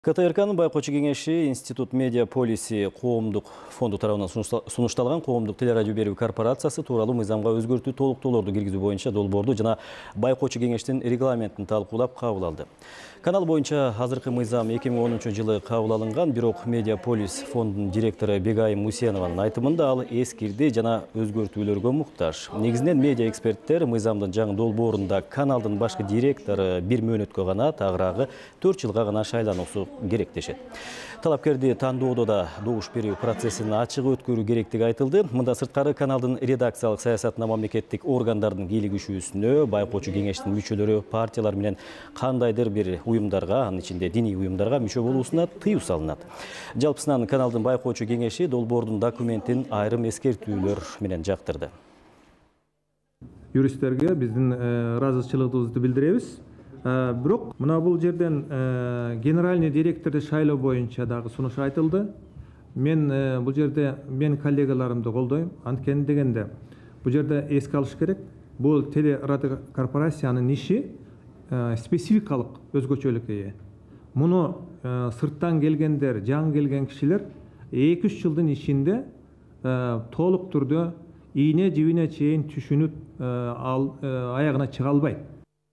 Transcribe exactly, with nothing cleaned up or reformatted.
КТРКнын байкоочу кеңеши Институт медиа полиси коомдук фонду тарабынан сунушталган коомдук телерадио берүү корпорациясы тууралуу мыйзамга өзгөртүү толуктоолорду киргизүү боюнча долбоорду жана байкоочу кеңештин регламентин талкуулап кабыл алды. Канал боюнча азыркы мыйзам эки миң онунчу жылы кабыл алынган, бирок Медиаполис фондунун директору Бегайым Мусенованын айтымында ал эскирди жана өзгөртүүлөргө муктаж. Негизинен медиа эксперттер мыйзамдын жаңы долбоорунда каналдын башкы директору бир мөөнөткө гана, тагыраагы төрт жылга гана шайлануусу керек дешет. Талапкерди тандоодо да добуш берүү процессин ачык өткөрүү керектиги айтылды. Мында сырткары каналдын редакциялык саясатына мамлекеттик органдардын кийлигишүүсүнө байкоочу кеңештин мүчөлөрү партиялар менен кандайдыр бир уюмдарга, анын ичинде диний уюмдарга мүчө болуусуна тыюу салынат. Жалпысынан каналдын байкоочу кеңеши долбоордун документин айрым эскертүүлөр менен жактырды. Юристтерге биздин ыраазычылыгыбызды билдиребиз. Бирок мына бул жерден генеральный директорду шайлоо боюнча дагы сунуш айтылды. Мен бул жерде мен коллегаларымды колдойм. Анткени дегенде бул жерде эске алыш керек. Бул телерадио корпорациянын иши спецификалык өзгөчөлүккө ээ. Муну сырттан келгендер, жаңы келген кишилер эки үч жылдын ичинде толук түрдө ийне жибине чейин түшүнүп аягына чыга албайт.